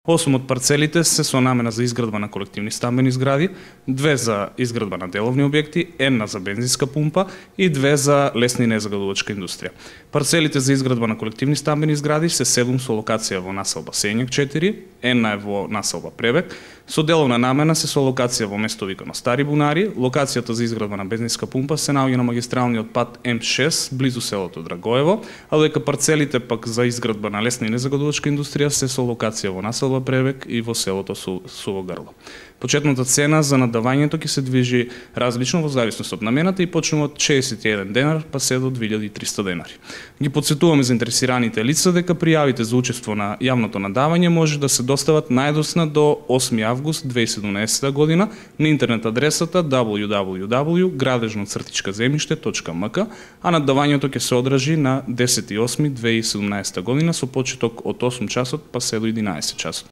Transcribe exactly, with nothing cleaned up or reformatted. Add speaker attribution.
Speaker 1: осум од парцелите се со намена за изградба на колективни стамбени згради, две за изградба на деловни објекти, една за бензинска пумпа и две за лесна и незагадувачка индустрија. Парцелите за изградба на колективни стамбени згради се седум со локација во населба Сењак четири, една е во населба Пребек, со деловна намена се со локација во место викано Стари Бунари, локацијата за изградба на бензинска пумпа се наоѓа на магистралниот пат М шест, близу селото Драгоево, а додека парцелите пак за изградба на лесна и незагадувачка индустрија се со локација во населба Пребек и во селото Суво Грло. Почетната цена за надавањето ќе се движи различно во зависност од намената и почнува од шеесет и еден денар па се до две илјади и триста денари. Ги потсетуваме заинтересираните лица дека пријавите за учество на јавното надавање може да се достават најдосна до осми август две илјади и седумнаесета година на интернет адресата дабл ю дабл ю дабл ю точка градежно цртичка земјиште точка ем ка, а надавањето ќе се одржи на десети осми две илјади и седумнаесета година со почеток од осум часот па се до единаесет часот.